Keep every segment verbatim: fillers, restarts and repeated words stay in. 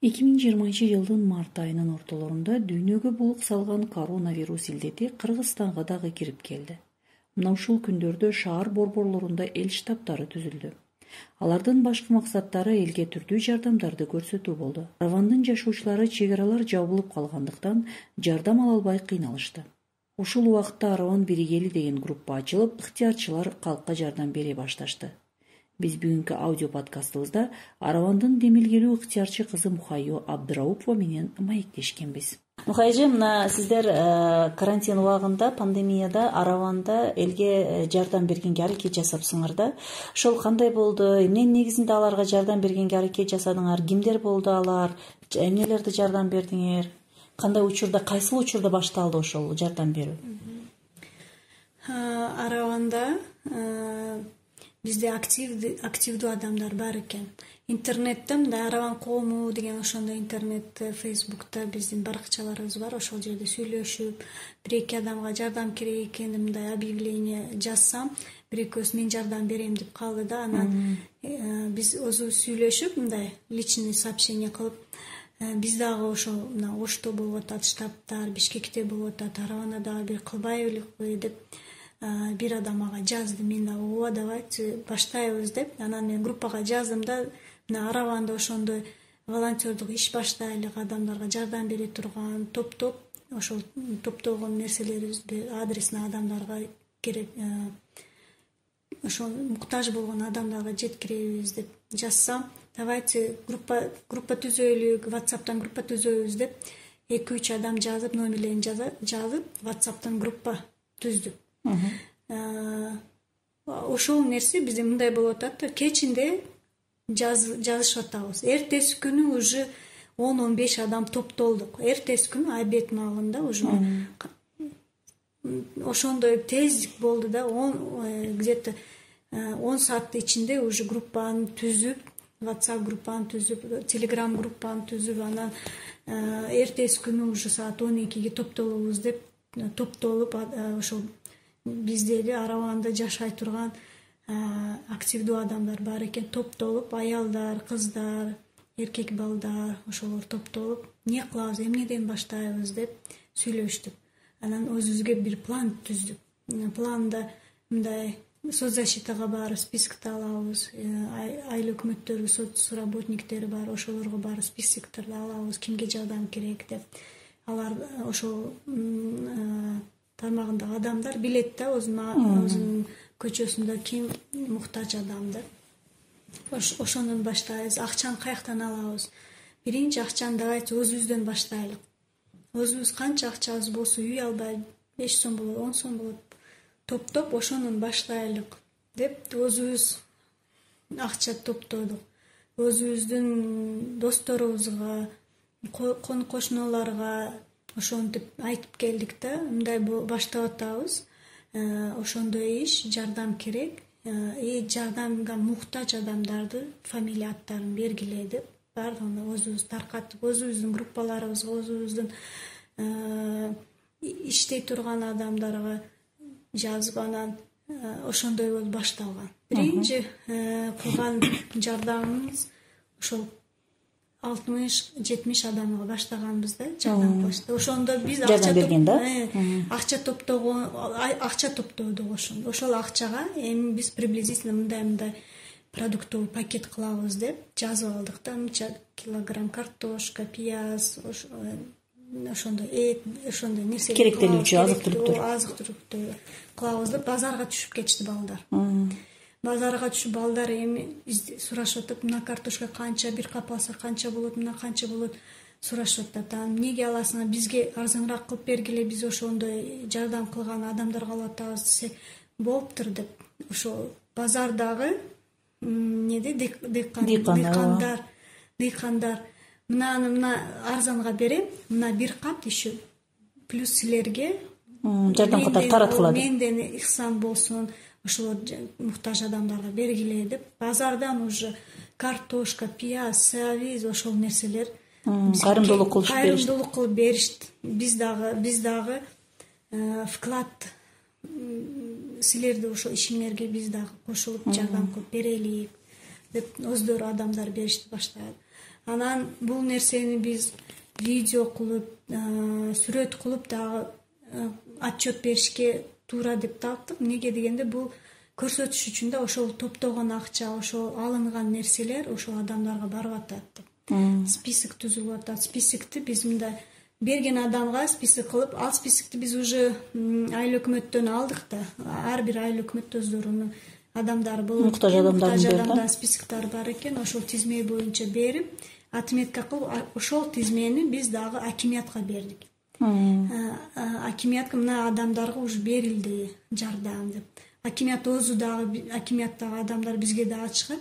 эки миң жыйырманчы жылдын март айынын ортолорунда дүйнөгө булук салган коронавирус илдети Кыргызстанга дагы кирип келди. Мына ушул күндөрдө шаар борборлорунда эл штабтары түзүлдү. Алардын башкы максаттары элге түрдүү жардамдарды көрсөтүү болду. Аравандын жашоочулары чек аралар жабылып калгандыктан жардам ала албай кыйналышты. Ушул убакытта Араван биригели деген группа ачылып, ыктыярчылар калкка жардам бере башташты. Биз бүгүнкү аудио подкастыбызда Аравандын демилгелүү ыктыярчы кызы Мухайо Абдыраупова менен маектешкенбиз. Мухайжы, мына сиздер карантин убагында, пандемияда Араванда элге жардам бергенге аракет жасапсыңар да. Ошол кандай болду? Эмненин негизинде аларга жардам бергенге аракет жасадыңар? Кимдер болду алар? Эмнелерди жардам бердиңер? Кандай учурда, кайсыл учурда башталды ошол жардам берүү? Араванда бизде активдүү активдүү адамдар бар экен. Интернетте мындай Араван коому деген ошондой интернетте, Фейсбукта биздин баракчаларыбыз бар. Ошол жерде сүйлөшүп, бир эки адамга жардам керек экен мындай объявление жазсам, бир экөөсү мен жардам берем деп калды да. Анан биз өзүбүз сүйлөшүп, мындай личный сообщение кылып, биз дагы ошо мына Ошто болуп атат, штабтар, Бишкекте болуп атат, Аравана дагы бир кылбайлыкпы деп бир адам ага жазды. Мен дагы ооба давайте баштайбыз деп, анан мен группага жаздым да, мына Араванда ошондой волонтердук иш баштайлык, адамдарга жардам бере турган топтоп, ошол топтогон нерселерибизди адресине адамдарга керек, ошол муктаж болгон адамдарга жеткиребиз деп жазсам, давайте группа группа түзөйлүк, WhatsApp'тан группа түзөбүз деп эки үч адам жазып, номерлерин жазып, WhatsApp'тан группа түздүк. Ошол нерсе бизде мындай болуп атат да, кечинде жазышып атабыз. Эртеси күнү уже он он беш адам топтолдук. Эртеси күнү обед маалында уже ошондой тездик болду да, где-то он сааттын ичинде уже группаны түзүп, WhatsApp группаны түзүп, Telegram группаны түзүп, анан эртеси күнү уже саат он экиге топтолобуз деп топтолуп, ошол бизде эле Араванда жашай турган активдүү адамдар бар экен, топтолуп, аялдар, кыздар, эркек балдар, ошолор топтолуп, эмне кылабыз, эмнеден баштайбыз деп сүйлөштүк. Анан өзүбүзгө бир план түздүк. Планда мындай соцзащитага барып спискти алабыз, айыл өкмөттөрү, соц работниктери бар, ошолорго барып списокторду алабыз, кимге жардам керек деп. Алар ошол тармагындагы адамдар билет да, өзүнүн көчөсүндө ким муктаж адам деп. Ошондон баштайбыз. Акчаны каяктан алабыз? Биринчи акчаны давайте өзүбүздөн баштайлык. Өзүбүз канча акчабыз болсо, үй албай, беш сом болот, он сом болот, топтоп ошонун баштайлык деп өзүбүз акча топтодук. Өзүбүздүн досторубузга, кон кошуналарга ошентип айтып келдик да, мындай баштап атабыз, ошондой иш, жардам керек, и жардамга муктаж адамдарды фамилия аттарын бергиле деп баардыгын өзүбүз таркатып, өзүбүздүн группаларыбызга, өзүбүздүн иштей турган адамдарга жазып, анан ошондой болуп башталган. Биринчи кылган жардамыбыз ошол алтымыш жетимиш адамга баштаганбыз да, жардам кылышты. Ошондо биз акча берген да, акча топтогон, акча топтодук ошондо. Ошол акчага эми биз приблизительно мындай-мындай продуктовый пакет кылабыз деп жазып алдык да, мынча килограмм картошка, пияз, ошондой эт, ошондой нерсе керектелүүчү азык-түлүктөр азык-түлүктөр кылабыз деп базарга түшүп кетишти балдар. Базарга түшүп балдар эми сурашып атат, мына картошка канча, бир кап алса канча болот, мына канча болот сурашып атат. Анан эмнеге аласыңар, бизге арзаныраак кылып бергиле, биз ошондой жардам кылган адамдарга алып атабыз десе, болуптур деп. Ошол базардагы эмнеде дыйкандар, дыйкандар мынаны мына арзанга берем, мына бир кап еще плюс силерге жардам катары таратылат. Менден ихсан болсун, ошол муктаж адамдарга бергиле деп, базардан уже картошка, пияз, сабиз, ошол нерселер кайрымдуулук кылып беришти. Кайрымдуулук кылып беришти. Биз дагы биз дагы вклад, силерди ошол ишиңерге биз дагы кошулуп жардам кылып берелик деп өздөрү адамдар беришти баштады. Анан бул нерсени биз видео кылып, сүрөт кылып дагы отчет беришке туура деп таптык. Эмнеге дегенде бул көрсөтүш үчүн да ошол топтогон акча, ошол алынган нерселер ошол адамдарга барып атат деп. Список түзүлүп атат. Списокти биз мындай берген адамга список кылып, ал списокти биз уже айыл өкмөттөн алдык да. Ар бир айыл өкмөт өздөрүнүн адамдары болот. Муктаж адамдардын списоктор бар экен. Ошол тизме боюнча берип, отметка кылып, ошол тизмени биз дагы акимиятка бердик. Акимиятка мына адамдарга уже берилди жардам деп. Акимият өзү дагы, акимияттагы адамдар бизге дагы чыгып,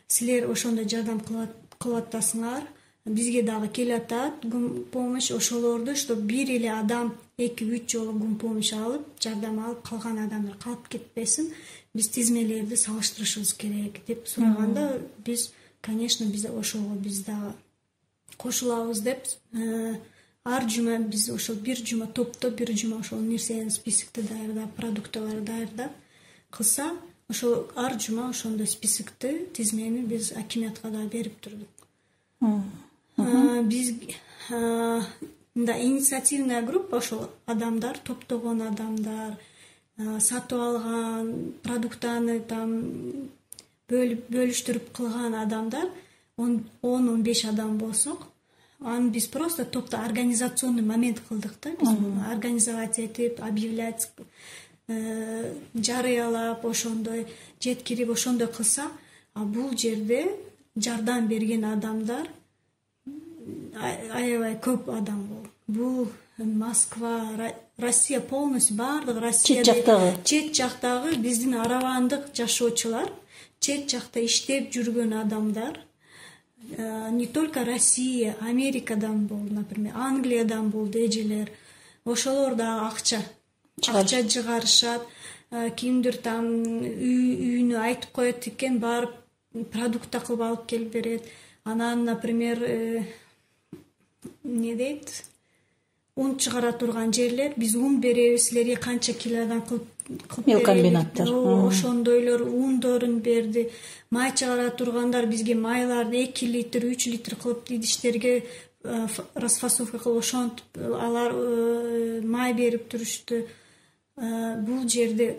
силер ошондой жардам кылып атасыңар, бизге дагы келатат гум помощь, ошолорду, что бир эле адам эки үч жолу гум помощь алып, жардам алып, калган адамдар калып кетпесин, биз тизмелерди салыштырышыбыз керек деп сураганда, биз, конечно, биз ошого биз дагы кошулабыз деп, ар жума биз ошол бир жума топтоп, бир жума ошол нерсени, списокти даярдап, продуктыларды даярдап кылса, ошол ар жума ошондой списокти, тизмени биз акимиятка да берип турдук. Биз мындай инициативная группа, ошол адамдар, топтогон адамдар, сатып алган продуктаны там бөлүштүрүп кылган адамдар он он беш адам болсок, аны биз просто топто организационный момент кылдык да, биз муну организовать этип, объявлять, жарыялап, ошондой жеткирип, ошондой кылса, а бул жерде жардам берген адамдар аябай көп адам болду. Бул Москва, Россия полностью, баардык Россия, чет жактагы чет жактагы биздин арабандык жашоочулар, чет жакта иштеп жүргөн адамдар, не только Россия, Америкадан болду, например, Англиядан болду эжелер. Ошолор дагы акча акча жыгарышат, кимдир там үйүнө айтып коет экен, барып продукта кылып алып келип берет. Анан, например, не дейт, ун чыгара турган жерлер, биз ун беребиз, силерге канча килодан кылып беребиз. Комбинаттар ошондойлор ундорун берди. Май чыгара тургандар бизге майларды эки литр, үч литр кылып идиштерге расфасовка кылып ошентип алар май берип турушту. Бул жерде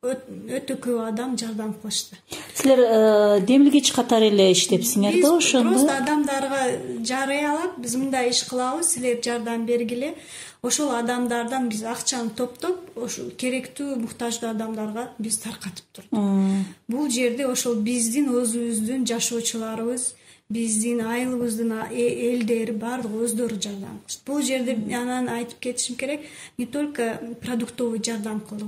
өтө көп адам жардам кылышты. Силер демилгеч катары эле иштепсиңер да ошондо? Биз просто адамдарга жарыялап, биз мындай иш кылабыз, силер жардам бергиле. Ошол адамдардан биз акчаны топтоп, ошол керектүү, муктаждуу адамдарга биз таркатып турдук. Бул жерде ошол биздин өзүбүздүн жашоочуларыбыз, биздин айылыбыздын элдери баардыгы өздөрү жардам кылышты. Бул жерде анан айтып кетишим керек, не только продуктовый жардам кылдык.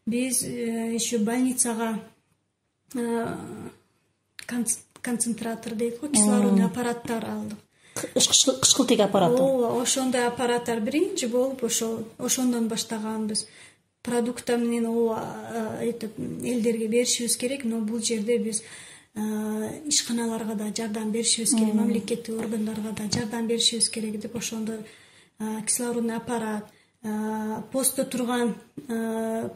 Биз еще больницага концентратор дейт го, кислородный аппараттар алдык. Кышкылтек аппараты. Ооба, ошондой аппараттар биринчи болуп, ошол ошондон баштаганбыз. Продукта менен ооба этип элдерге беришибиз керек, но бул жерде биз ишканаларга да жардам беришибиз керек, мамлекеттик органдарга да жардам беришибиз керек деп ошондой кислородный аппарат, постто турган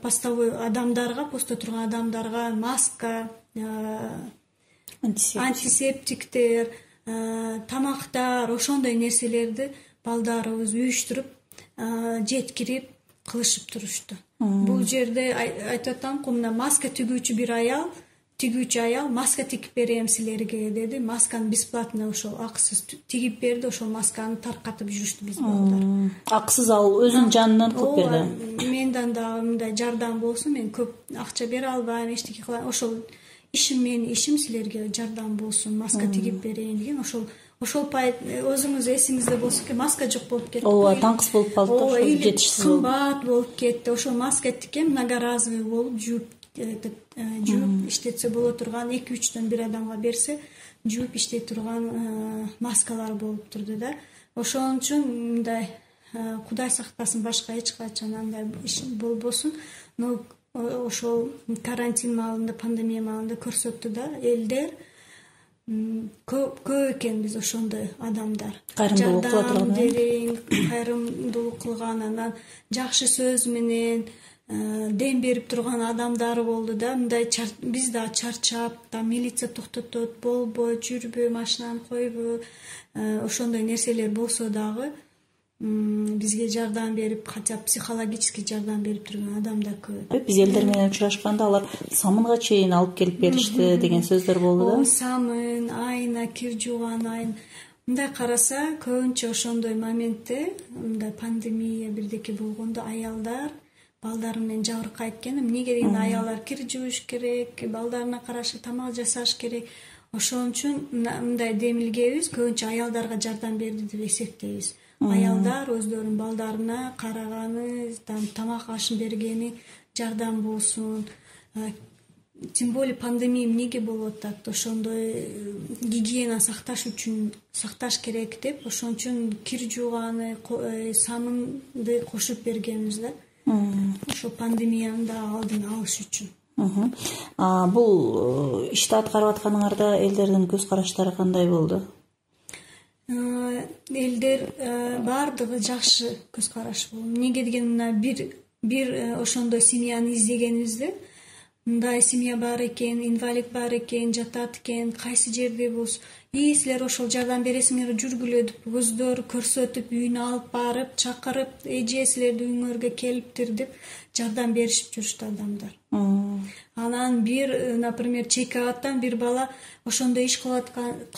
постовой адамдарга, постто турган адамдарга маска, антисептиктер, тамактар, ошондой нерселерди балдарыбыз үйүштүрүп, жеткирип кылышып турушту. Бул жерде айтып атам, мына маска тигүүчү бир аял, тигүүчү аял маска тигип берем силерге деди. Масканы бесплатно ошол акысыз тигип берди, ошол масканы таркатып жүрүштү биз балдар. Акысыз ал өзүнүн жанынан кылып берди. Менден дагы мындай жардам болсун, мен көп акча бере албайм, эчтеке кылайм. Ошол ишим менин ишим, силерге жардам болсун, маска тигип берейин деген. Ошол ошол пайт өзүңүз эсиңизде болсо экен, маска жок болуп кетти. Ооба, таңкыс болуп калды, ошол жетишсиз болуп. Кымбат болуп кетти. Ошол маска тикем многоразовый болуп, жууп жууп иштетсе боло турган, эки үчтөн бир адамга берсе, жууп иштей турган маскалар болуп турду да. Ошон үчүн мындай Кудай сактасын, башка эч качан андай иш болбосун. Но ошол карантин маалында, пандемия маалында көрсөттү да элдер көп экен биз ошондой адамдар. Кайрымдуулук кыла турган, кайрымдуулук кылган, анан жакшы сөз менен дем берип турган адамдары болду да. Мындай биз да чарчап, да милиция токтотот, болбой, жүрбө, машинаны койбо, ошондой нерселер болсо дагы бизге жардам берип, хотя психологический жардам берип турган адамдар көп. Биз элдер менен учурашканда алар самынга чейин алып келип беришти деген сөздөр болду да. Самын, айна, кир жууган айна. Мындай караса, көбүнчө ошондой моментте, мындай пандемия бирдеке болгондо аялдар балдары менен жабыркайт экен. Эмнеге дегенде аялдар кир жууш керек, балдарына карашы, тамак жасаш керек. Ошон үчүн мындай демилгебиз көбүнчө аялдарга жардам берди деп эсептейбиз. Аялдар өздөрүнүн балдарына караганы, тамак ашын бергени жардам болсун. Тем более пандемия эмнеге болуп атат? Ошондой гигиена сакташ үчүн сакташ керек деп, ошон үчүн кир жууганы, самынды кошуп бергенбиз да. Ошо пандемияны да алдын алыш үчүн. Бул ишти аткарып атканыңарда элдердин көз караштары кандай болду? Элдер баардыгы жакшы көз караш болду. Эмнеге дегенде бир бир ошондой семьяны издегенибизде, мындай семья бар экен, инвалид бар экен, жатат экен, кайсы жерде болсун, и силер ошол жардам бересиңер, жүргүлө деп өздөрү көрсөтүп, үйүнө алып барып, чакырып, эже силердин үйүңөргө келиптир деп жардам беришип жүрүштү адамдар. Анан бир, например, чеки абаттан бир бала ошондой иш кылып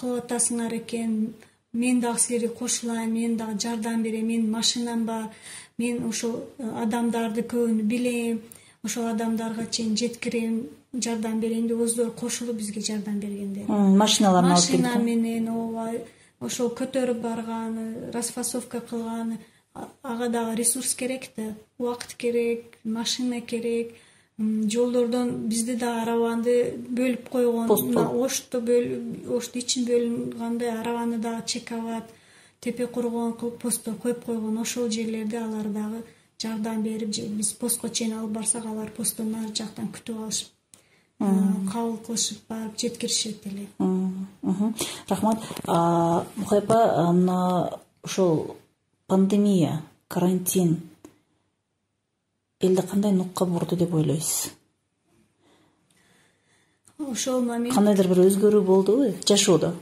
атасыңар экен, мен дагы силерге кошулайын, мен дагы жардам берем, менин машинам бар, мен ошол адамдарды көбүн билем, ошол адамдарга чейин жеткирем, жардам берейин деп өздөрү кошулуп бизге жардам бергендер. Машиналарын алып келип. Машина менен ооба, ошол көтөрүп барганы, расфасовка кылганы, ага дагы ресурс керек да, убакыт керек, машина керек. Жолдордон бизде да арабанды бөлүп койгон, ошту бөлүп, ошту ичин бөлүнгандай арабаны дагы чекабат, тепе кургон кылып постто коюп койгон. Ошол жерлерде алар дагы жардам берип, биз постко чейин алып барсак, алар посттон нары жактан күтүп алышып, кабыл кылышып барып жеткиришет эле. Рахмат. Мухайпа, мына ошол пандемия, карантин элди кандай нукка бурду деп ойлойсуз? Ошол момент кандайдыр бир өзгөрүү болдубу жашоодо?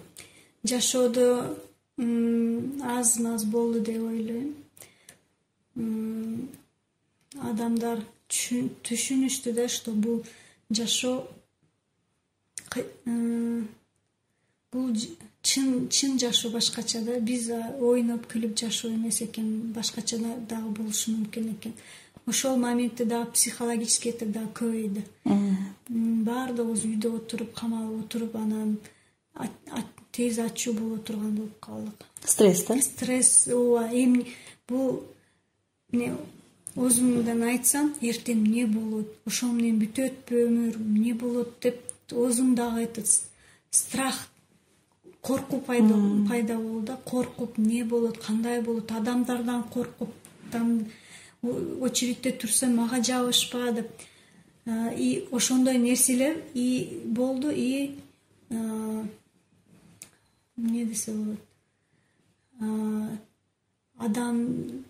Жашоодо аз-маз болду деп ойлойм. Адамдар түшүнүштү да, что бул жашоо бул чын чын жашоо башкача да. Биз ойноп күлүп жашоо эмес экен, башкача дагы болушу мүмкүн экен. Ошол моментте дагы психологический дагы көбөйдү. Баардыгыбыз үйдө отуруп, камалып отуруп, анан тез ачуу боло турган болуп калдык. Стресс да? Стресс, ооба. Эми бул өзүмдөн айтсам, эртең эмне болот, ошол менен бүтөтпү өмүр, эмне болот деп өзүм дагы этот страх, коркуу пайда пайда болду да. Коркуп, эмне болот, кандай болот, адамдардан коркуп, очередьте турсам мага жабышпа деп. И ошондой нерселер и болду, и эмне десе болот, адам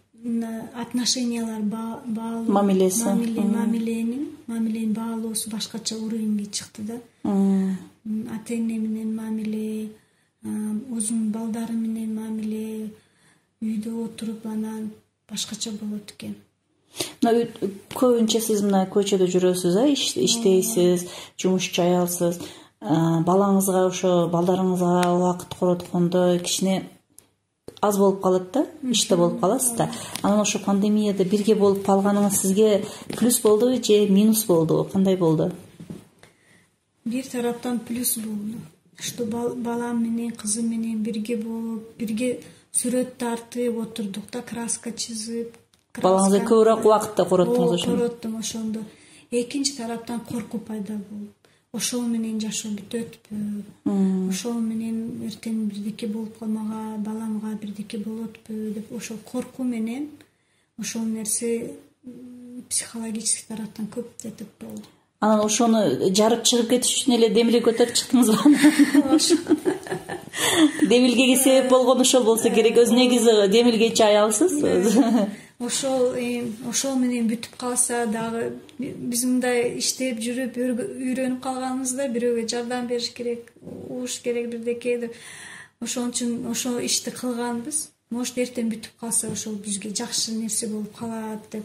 отношениялар баалуу, мамилеси, мамиленин мамиленин баалоосу башкача уровеньге чыкты да. Ата эне менен мамиле, өзүнүн балдары менен мамиле, үйдө отуруп анан башкача болот экен. Мына көбүнчө сиз мына көчөдө жүрөсүз, а иштейсиз, жумушчу аялсыз. Балаңызга, ошо балдарыңызга убакыт короткондо кичине аз болуп калат да, иште болуп каласыз да. Анан ошо пандемияда бирге болуп калганыңыз сизге плюс болдубу же минус болдубу? Кандай болду? Бир тараптан плюс болду. Что балам менен, кызым менен бирге болуп, бирге сүрөт тартып отурдук да, краска чызып. Балаңызга көбүрөөк убакытта короттуңуз ошондо? Короттум ошондо. Экинчи тараптан коркуу пайда болду. Ошол менен жашоо бүтөтпү, ошол менен эртең бирдеке болуп калмага, баламга бирдеке болотпу деп, ошол коркуу менен ошол нерсе психологический тараптан көп этип болду. Анан ошону жарып чыгып кетиш үчүн эле демилге көтөрүп чыктыңызбы? Демилгеге себеп болгон ошол болсо керек. Өзү негизи демилгечи аялсыз. ошол ошол менен бүтүп калса дагы биз мындай иштеп жүрүп үйрөнүп калганбыз да, бирөөгө жардам бериш керек, угуш керек бирдеке деп, ошон үчүн ошол ишти кылганбыз. Может, эртең бүтүп калса ошол бизге жакшы нерсе болуп калат деп.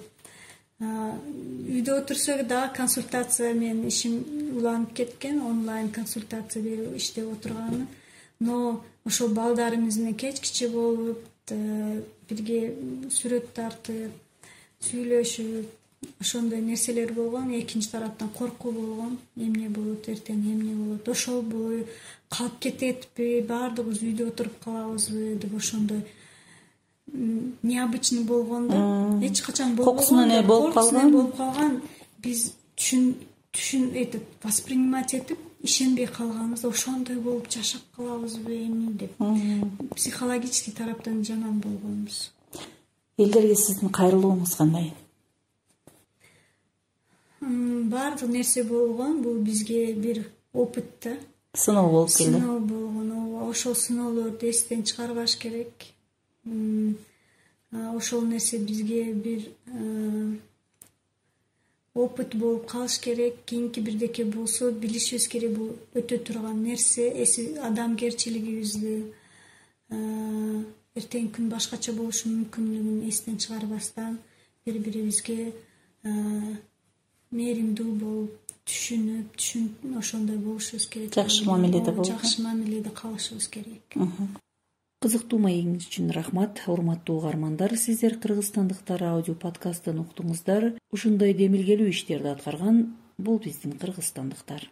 Үйдө отурсак дагы консультация, менин ишим уланып кеткен, онлайн консультация берип иштеп отурганы. Но ошол балдарыбыз менен кечкиче болуп, бирге сүрөт тартып, сүйлөшүп, ошондой нерселер болгон. Экинчи тараптан коркуу болгон. Эмне болот, эртең эмне болот? Ошол бою калып кететпи, баардыгыбыз үйдө отуруп калабызбы деп, ошондой необычный болгон да. Эч качан болбогон, кокусунан болуп калган. болуп калган. Биз түшүн түшүн этип, воспринимать этип, ишенбей калганбыз. Ошондой болуп жашап калабызбы эми деп. Психологический тараптан жаман болгонбуз. Элдерге сиздин кайрылууңуз кандай? Баардык нерсе болгон. Бул бизге бир опыт да. Сыноо болуп келди. Сыноо болгон. Ошол сыноолорду эстен чыгарбаш керек. Ошол нерсе бизге бир опыт болуп калыш керек. Кийинки бирдеке болсо билишибиз керек, бул өтө турган нерсе. Эси адамгерчилигибизди, эртең күн башкача болушу мүмкүнлүгүн эстен чыгарбастан бири бирибизге мээримдүү болуп, түшүнүп, түшүнүп ошондой болушубуз керек. Жакшы мамиледе болуп, жакшы мамиледе калышыбыз керек. Кызыктуу маегиңиз үчүн рахмат. Урматтуу угармандар, сиздер кыргызстандыктар аудио подкастын уктуңуздар. Ушундай демилгелүү иштерди аткарган бул биздин кыргызстандыктар.